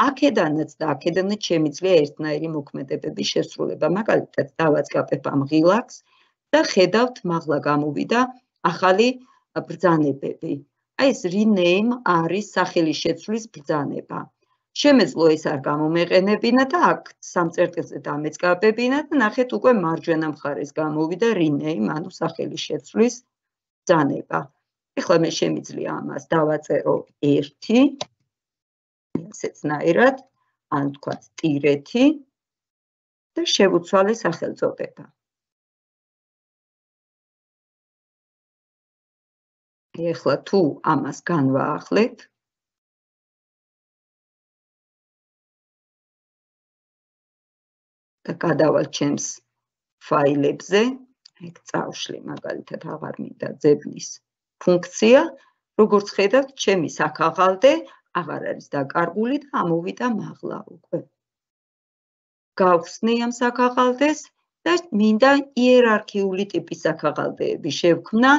აქედანაც და აქედანაც შემიძლია ერთნაირი მოქმედებების შესრულება. მაგალითად, დავაწყაბებ ამ ღილაკს და ხედავთ, მაღლა გამოვიდა ახალი ბრძანებები. აი ეს rename არის სახელი შეცვლის ბრძანება. შემეძლო ეს არ გამომეყენებინა და აქ სამ წერტილზე დამეწყაბებინა და ნახეთ უკვე მარჯვენა მხარეს გამოვიდა rename, ანუ სახელი შეცვლის ბრძანება. ეხლა მე შემიძლია ამას დავაწერო ერთი, ასეთნაირად, ან თქვათ ტირეთი და შევუცვალე სახელწოდება. ეხლა თუ ამას განვაახლეთ, და გადავალ ჩემს ფაილებზე, ეგ წავშლი, მაგალითად, აღარ მინდა ძებნის ფუნქცია, როგორც ხედავთ, ჩემი საქაღალდე აღარ არის დაკარგული და ამოვიდა მაღლა უკვე. გავხსნი ამ საქაღალდეს და მინდა იერარქიული ტიპის საქაღალდეები შევქმნა,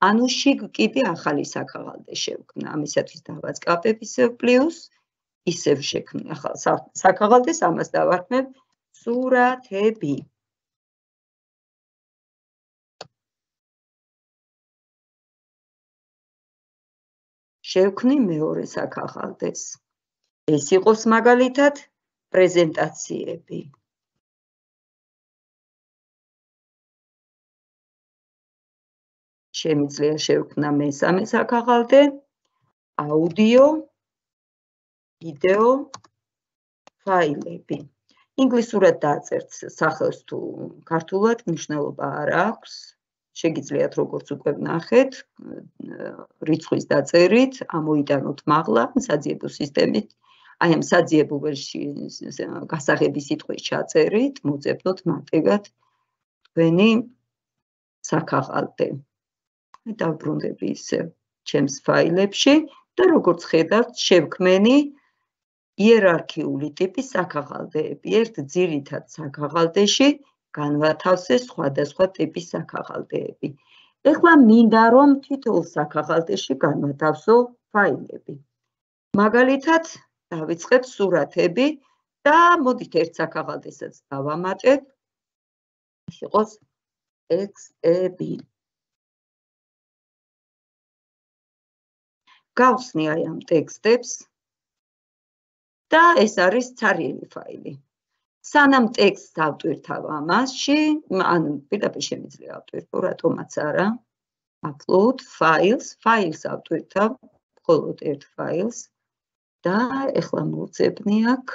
ანუ შიგ კიდე ახალი საქაღალდე შევქმნა. ამისათვის დავაწყაპებ ისევ პლუს, ისევ შექმნი ახალ საქაღალდეს, ამას დავარქმევ სურათები. შევქმნი მეორე საქაღალდეს. ეს იყოს მაგალითად პრეზენტაციები. შემიძლია შევქმნა მესამე საქაღალდე, აუდიო, ვიდეო, ფაილები. ინგლისურად დააწერთ სახელს თუ ქართულად მნიშვნელობა არ აქვს. შეგიძლიათ როგორც უკვე ვნახეთ, რიცხვის დაწერით, ამოიტანოთ მაღლა, საძიებო სისტემით, აი ამ საძიებო ველში გასაღები სიტყვის ჩაწერით, მოძებნოთ მარტივად თქვენი საქაღალდე. დავბრუნდები ისევ ჩემს ფაილებში და როგორც ხედავთ, შევქმენი იერარქიული ტიპის საქაღალდეები. ერთ ძირითად საქაღალდეში განვათავსე სხვადასხვა ტიპის საქაღალდეები. ეხლა მინდა რომ თითოეულ საქაღალდეში განვათავსო ფაილები. მაგალითად, დავიწყებ სურათები და მოდით ერთ საქაღალდესაც დავამატებ. ეს იყოს ტექსტები. გავხსნი აი ამ ტექსტებს და ეს არის ცარიელი ფაილი. სანამ ტექსტს ავტვირთავ ამასში, ანუ პირდაპირ შემიძლია ავტვირთო, რატომაც არა. upload files, files ავტვირთავ, მხოლოდ ერთ ფაილს და ეხლა მოვძებნი აქ.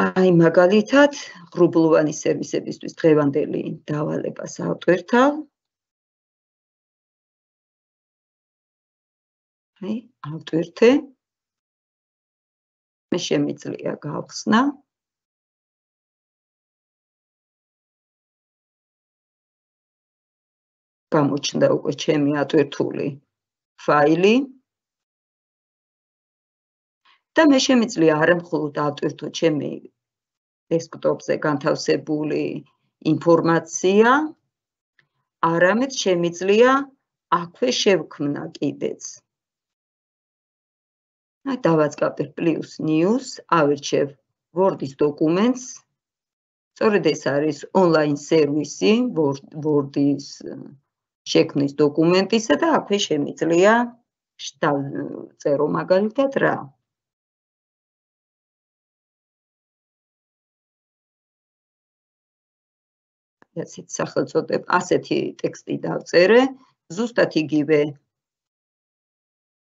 აი მაგალითად, ღრუბლოვანი სერვისებისთვის დღევანდელი დავალებას ავტვირთავ. აი, ავტვირთე. მე შემიძლია გავხსნა. გამოჩნდა უკვე ჩემი ატვირთული ფაილი. და მე შემიძლია არა მხოლოდ ავტვირთო ჩემი დესკტოპზე განთავსებული ინფორმაცია, არამედ შემიძლია აქვე შევქმნა კიდეც. აი დავაწყაპებ პლუს news, ავირჩევ Word-ის დოკუმენტს. სწორედ ეს არის ონლაინ სერვისი Word-ის შექმნის დოკუმენტისა და აქვე შემიძლია წერო მაგალითად რა. ასეთი სახელწოდება, ასეთი ტექსტი დავწერე, ზუსტად იგივე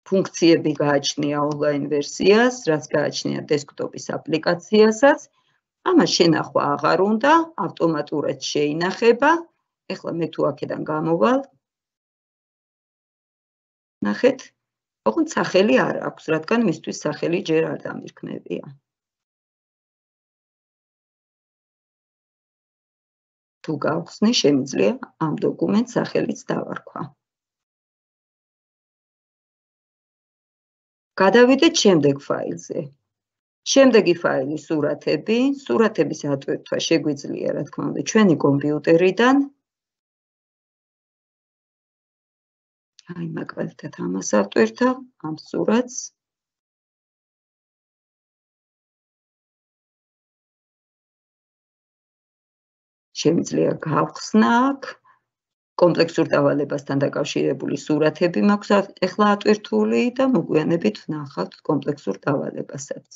ფუნქციები გააჩნია ონლაინ ვერსიას, რაც გააჩნია დესკტოპის აპლიკაციასაც. ამას შენახვა აღარ უნდა, ავტომატურად შეინახება. ეხლა მე თუ აქედან გამოვალ. ნახეთ, ოღონდ სახელი არ აქვს, რადგან მისთვის სახელი ჯერ არ დამირქმევია. თუ გავხსნი, შემიძლია ამ დოკუმენტს სახელიც დავარქვა. გადავიდეთ შემდეგ ფაილზე. შემდეგი ფაილი სურათები. სურათების ატვირთვა შეგვიძლია, რა თქმა უნდა, ჩვენი კომპიუტერიდან. აი, მაგალითად, ამას ავტვირთავ, ამ სურათს. შემიძლია გავხსნა აქ. კომპლექსურ დავალებასთან დაკავშირებული სურათები მაქვს ეხლა ატვირთული და მოგვიანებით ვნახავთ კომპლექსურ დავალებასაც.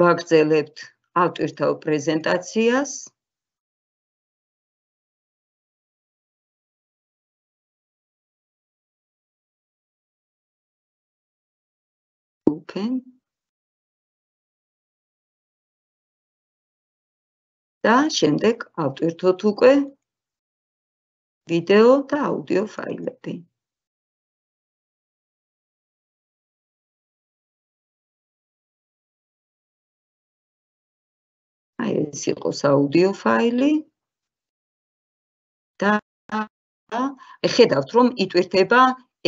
ვაგრძელებთ ავტვირთავ პრეზენტაციას. Open. და შემდეგ ავტვირთოთ უკვე ვიდეო და აუდიო ფაილები. აი ეს იყოს აუდიო ფაილი და ხედავთ რომ იტვირთება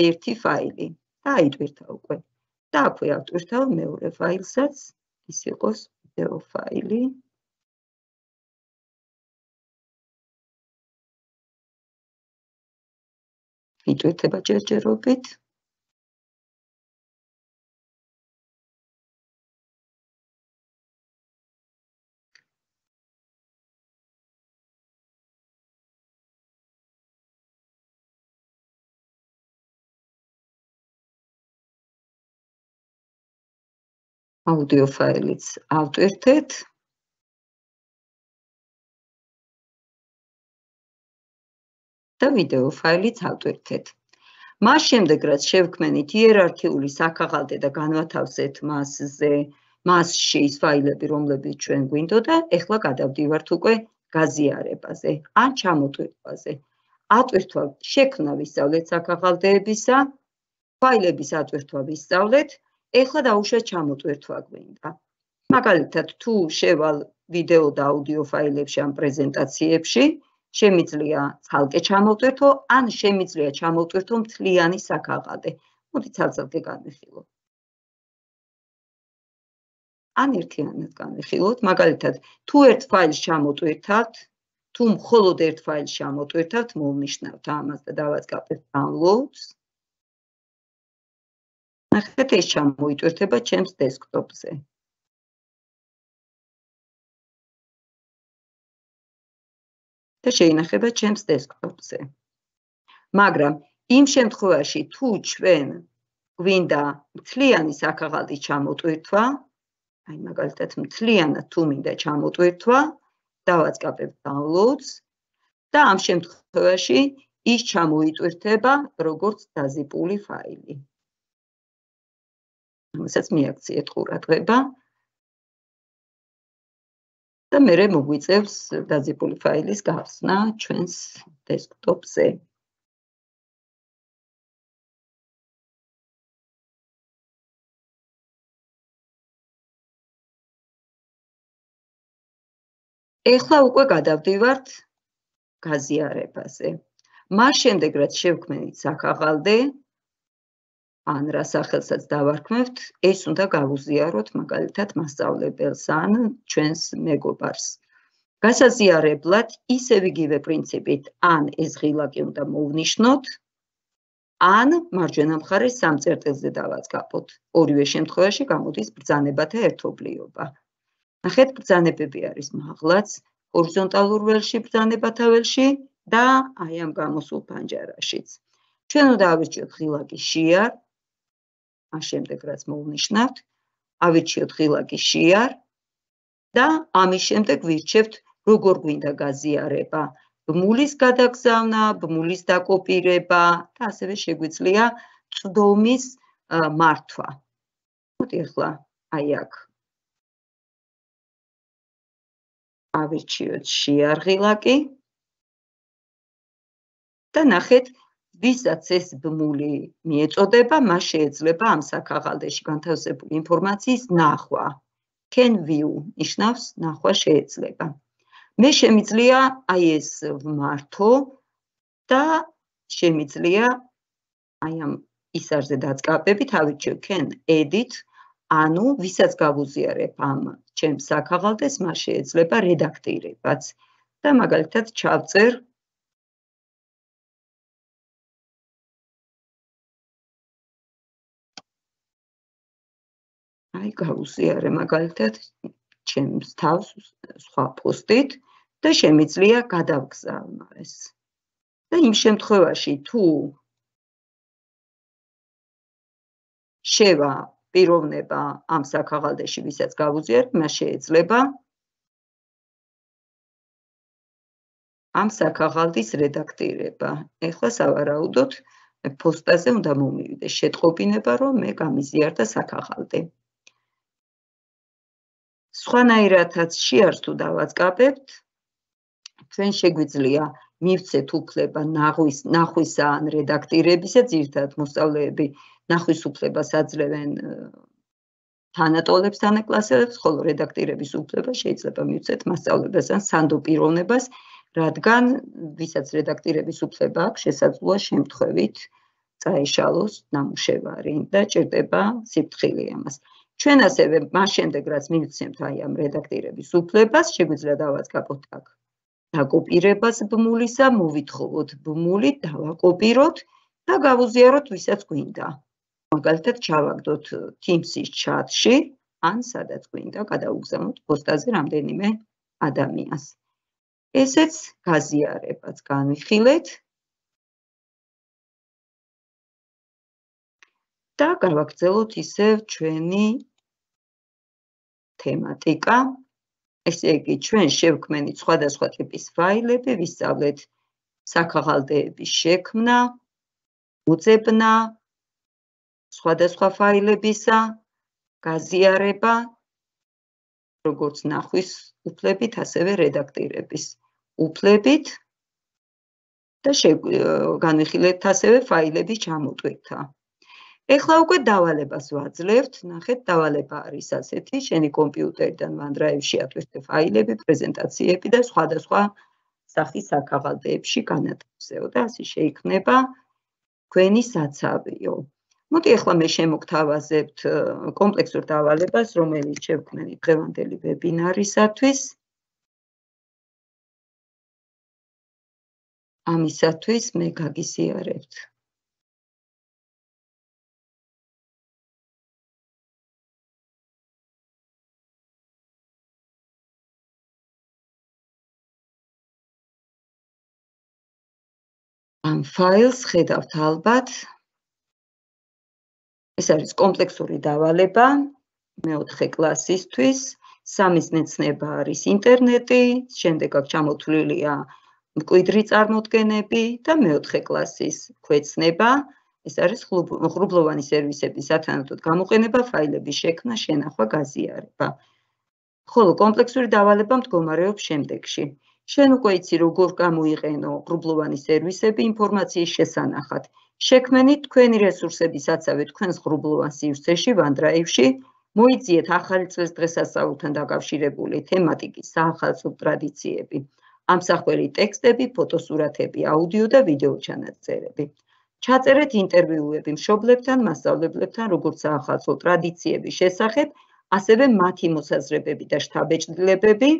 ერთი ფაილი და აიტვირთა უკვე. და აქვე ავტვირთავ მეორე ფაილსაც, ის იყოს ვიდეო ფაილი. იტვირთება ჯერჯერობით. აუდიო ფაილიც ავტვირთეთ. და ვიდეო ფაილიც ავტვირთეთ. მას შემდეგ, რაც შევქმნით იერარქიული საქაღალდე და განვათავსეთ მასზე, მასში ის ფაილები, რომლებიც ჩვენ გვინდოდა, ეხლა გადავდივართ უკვე გაზიარებაზე, ან ჩამოტვირთვაზე. ატვირთვა შექმნა ვისწავლეთ საქაღალდეებისა, ფაილების ატვირთვა ვისწავლეთ, ეხლა დაუშვათ ჩამოტვირთვა გვინდა. მაგალითად, თუ შევალ ვიდეო და აუდიო ფაილებში ან პრეზენტაციებში, შემიძლია ცალკე ჩამოვტვირთო, ან შემიძლია ჩამოვტვირთო მთლიანი საქაღალდე. მოდი ცალ-ცალკე განვიხილოთ. ან ერთიანად განვიხილოთ, მაგალითად, თუ ერთ ფაილს ჩამოვტვირთავთ, თუ მხოლოდ ერთ ფაილს ჩამოვტვირთავთ, მოვნიშნავთ ამას და დავაწყობთ downloads. ნახეთ, ეს ჩამოიტვირთება ჩემს დესკტოპზე. და შეინახება ჩემს დესკტოპზე. მაგრამ იმ შემთხვევაში, თუ ჩვენ გვინდა მთლიანი საქაღალდის ჩამოტვირთვა, აი მაგალითად მთლიანად თუ მინდა ჩამოტვირთვა, დავაწყობთ downloads და ამ შემთხვევაში ის ჩამოიტვირთება როგორც დაზიპული ფაილი. რომელსაც მიაქციეთ ყურადღება და მერე მოგვიწევს დაზიპული ფაილის გახსნა ჩვენს დესკტოპზე. ეხლა უკვე გადავდივართ გაზიარებაზე. მას შემდეგ, რაც შევქმნით საქაღალდე, ან რა სახელსაც დავარქმევთ, ეს უნდა გავუზიაროთ მაგალითად მასწავლებელს ან ჩვენს მეგობარს. გასაზიარებლად ისევ იგივე პრინციპით, ან ეს ღილაკი უნდა მოვნიშნოთ, ან მარჯვენა მხარეს სამ წერტილზე დავაწყობთ. ორივე შემთხვევაში გამოდის ბრძანებათა ერთობლიობა. ნახეთ, ბრძანებები არის მაღლაც, ჰორიზონტალურ ველში, ბრძანებათა ველში და აი ამ გამოსულ პანჯარაშიც. ჩვენ უნდა ავირჩიოთ ღილაკი შეარ, ამ შემდეგ რაც მოვნიშნავთ, ავირჩიოთ ღილაკი შეარ და ამის შემდეგ ვირჩევთ როგორ გვინდა გაზიარება, ბმულის გადაგზავნა, ბმულის დაკოპირება და ასევე შეგვიძლია წვდომის მართვა. მოდი ახლა აი აქ ავირჩიოთ შეარ ღილაკი და ნახეთ, ვისაც ეს ბმული მიეწოდება, მას შეეძლება ამ საქაღალდეში განთავსებული ინფორმაციის ნახვა. Can view ნიშნავს ნახვა შეეძლება. მე შემიძლია აი ეს ვმართო და შემიძლია აი ამ ისარზე დაწყაბებით ავირჩიო can edit, ანუ ვისაც გავუზიარებ ამ ჩემს საქაღალდეს, მას შეეძლება რედაქტირებაც. და მაგალითად ჩავწერ აი გავუზიარე მაგალითად ჩემს თავს სხვა პოსტით და შემიძლია გადავგზავნო ეს. და იმ შემთხვევაში თუ შევა პიროვნება ამ საქაღალდეში, ვისაც გავუზიარებ, მას შეეძლება ამ საქაღალდის რედაქტირება. ეხლა სავარაუდოდ პოსტაზე უნდა მომივიდეს შეტყობინება, რომ მე გამიზიარდა საქაღალდე. სხვანაირადაც შეარს თუ დავაწყაბებთ, ჩვენ შეგვიძლია მივცეთ უფლება ნახვის ნახვისა ან რედაქტირებისა, ძირითადად მოსწავლეები ნახვის უფლებას აძლევენ თანატოლებს, თანაკლასელებს, ხოლო რედაქტირების უფლება შეიძლება მივცეთ მასწავლებელს ან სანდო პიროვნებას, რადგან ვისაც რედაქტირების უფლება აქვს, შესაძლოა შემთხვევით წაეშალოს ნამუშევარი და ჭირდება სიფრთხილე ამას. ჩვენ ასევე მას შემდეგ რაც მივცემთ აი ამ რედაქტირების უფლებას, შეგვიძლია დავაწყაპოთ აქ დაკოპირებას ბმულისა, მოვითხოვოთ ბმული, დავაკოპიროთ და გავუზიაროთ ვისაც გვინდა. მაგალითად, ჩავაგდოთ Teams-ის ჩატში, ან სადაც გვინდა, გადავუგზავნოთ პოსტაზე რამდენიმე ადამიანს. ესეც გაზიარებაც განვიხილეთ და გავაგრძელოთ ისევ ჩვენი თემატიკა. ესე იგი, ჩვენ შევქმნით სხვადასხვა ტიპის ფაილები, ვისწავლეთ საქაღალდეების შექმნა, უძებნა, სხვადასხვა ფაილებისა, გაზიარება, როგორც ნახვის უფლებით, ასევე რედაქტირების უფლებით და განვიხილეთ ასევე ფაილების ჩამოტვირთა. ეხლა უკვე დავალებას ვაძლევთ, ნახეთ, დავალება არის ასეთი, შენი კომპიუტერიდან OneDrive-ში ატვირთე ფაილები, პრეზენტაციები და სხვადასხვა სახის საქაღალდეებში განათავსეო და ასე შეიქმნება თქვენი საცავიო. მოდი ახლა მე შემოგთავაზებთ კომპლექსურ დავალებას, რომელიც შევქმნით დღევანდელი ვებინარისათვის. ამისათვის მე გაგიზიარებთ ამ ფაილს ხედავთ ალბათ. ეს არის კომპლექსური დავალება მეოთხე კლასისთვის, სამის ნეცნება არის ინტერნეტი, შემდეგ აქ ჩამოთვლილია მკვიდრი წარმოდგენები და მეოთხე კლასის ქვეცნება, ეს არის ღრუბლოვანი სერვისების სათანადოდ გამოყენება, ფაილების შექმნა, შენახვა, გაზიარება. ხოლო კომპლექსური დავალება მდგომარეობს შემდეგში. შენ უკვე იცი როგორ გამოიყენო ღრუბლოვანი სერვისები ინფორმაციის შესანახად. შექმნით თქვენი რესურსების საცავი თქვენს ღრუბლოვან სივრცეში, OneDrive-ში, მოიძიეთ ახალი წლის დღესასწაულთან დაკავშირებული თემატიკის საახალწლო ტრადიციები, ამსახველი ტექსტები, ფოტოსურათები, აუდიო და ვიდეო ჩანაწერები. ჩაწერეთ ინტერვიუები მშობლებთან, მასწავლებლებთან, როგორც საახალწლო ტრადიციების შესახებ, ასევე მათი მოსაზრებები და შთაბეჭდილებები.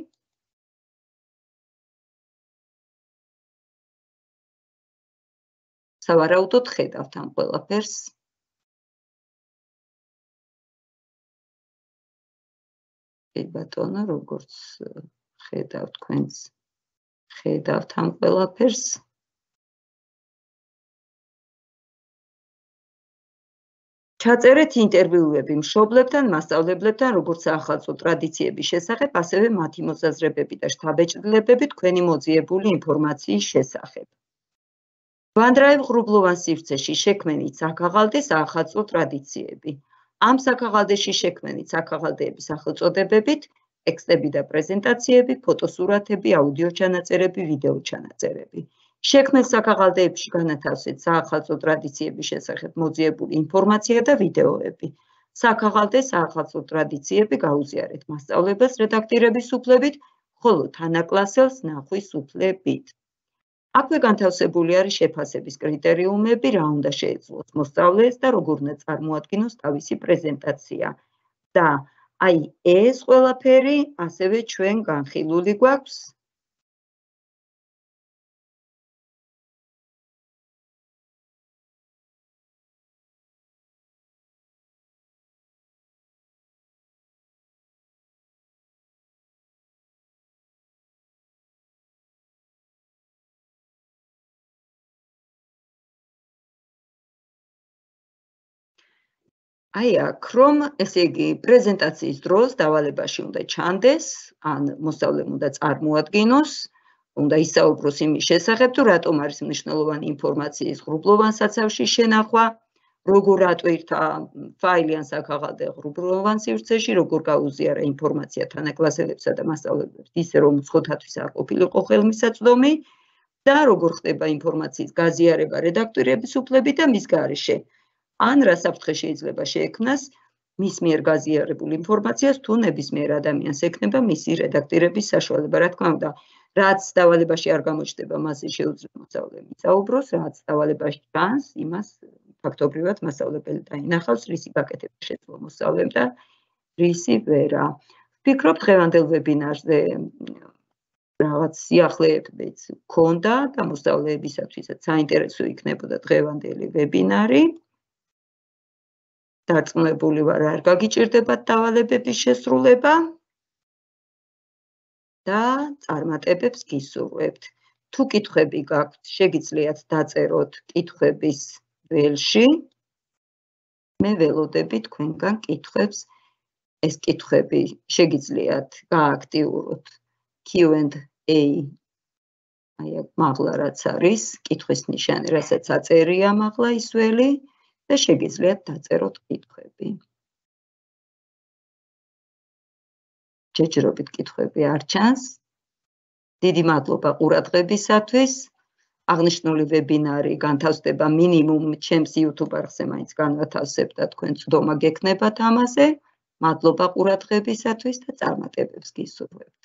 სავარაუდოდ ხედავთ ამ ყველაფერს. კი ბატონო, როგორც ხედავთ თქვენს, ხედავთ ამ ყველაფერს. ჩაწერეთ ინტერვიუები მშობლებთან, მასწავლებლებთან, როგორც საახალწლო ტრადიციების შესახებ, ასევე მათი მოსაზრებები და შთაბეჭდილებები თქვენი მოძიებული ინფორმაციის შესახებ. OneDrive ღრუბლოვან სივრცეში შექმნით საქაღალდე საახალწლო ტრადიციები. ამ საქაღალდეში შექმნით საქაღალდეების სახელწოდებებით, ტექსტები და პრეზენტაციები, ფოტოსურათები, აუდიო ჩანაწერები, ვიდეო ჩანაწერები. შექმნილ საქაღალდეებში განათავსეთ საახალწლო ტრადიციების შესახებ მოძიებული ინფორმაცია და ვიდეოები. საქაღალდე საახალწლო ტრადიციები გაუზიარეთ მასწავლებლებს რედაქტირების უფლებით, ხოლო თანაკლასელს ნახვის უფლებით. აქვე განთავსებული არის შეფასების კრიტერიუმები, რა უნდა შეეძლოს მოსწავლეს და როგორ უნდა წარმოადგინოს თავისი პრეზენტაცია. და აი ეს ყველაფერი ასევე ჩვენ განხილული გვაქვს აი აქ რომ ესე იგი პრეზენტაციის დროს დავალებაში უნდა ჩანდეს, ან მოსწავლემ უნდა წარმოადგინოს, უნდა ისაუბროს იმის შესახებ, თუ რატომ არის მნიშვნელოვანი ინფორმაციის ღრუბლოვან საცავში შენახვა, როგორ ატვირთა ფაილი ან საქაღალდე ღრუბლოვან სივრცეში, როგორ გაუზიარა ინფორმაცია თანაკლასელებსა და მასწავლებლებს, ისე რომ უცხოთათვის არ ყოფილიყო ხელმისაწვდომი და როგორ ხდება ინფორმაციის გაზიარება რედაქტირების უფლებით და მის გარეშე. ან რა საფრთხე შეიძლება შეექმნას მის მიერ გაზიარებულ ინფორმაციას თუ ნებისმიერ ადამიანს ექნება მისი რედაქტირების საშუალება. რა თქმა უნდა, რაც დავალებაში არ გამოჩნდება, მასზე შეუძლია მოსწავლემ ისაუბროს, რაც დავალებაში ჩანს, იმას ფაქტობრივად მასწავლებელი დაინახავს, რისი გაკეთება შეძლო მოსწავლემ და რისი ვერა. ვფიქრობ დღევანდელ ვებინარზე რაღაც სიახლეებიც გქონდა და მოსწავლეებისათვისაც საინტერესო იქნებოდა დღევანდელი ვებინარი. დარწმუნებული ვარ, არ გაგიჭირდებათ დავალებების შესრულება და წარმატებებს გისურვებთ. თუ კითხვები გაქვთ, შეგიძლიათ დაწეროთ კითხვების ველში. მე ველოდები თქვენგან კითხვებს. ეს კითხვები შეგიძლიათ გააქტიუროთ Q and A. აი აქ მაღლა რაც არის, კითხვის ნიშანი, რასაც აწერია მაღლა ის ველი და შეგიძლიათ დაწეროთ კითხვები. ჯერჯერობით კითხვები არ ჩანს. დიდი მადლობა ყურადღებისათვის. აღნიშნული ვებინარი განთავსდება მინიმუმ ჩემს YouTube არხზე მაინც განვათავსებ და თქვენ წვდომა გექნებათ ამაზე. მადლობა ყურადღებისათვის და წარმატებებს გისურვებთ.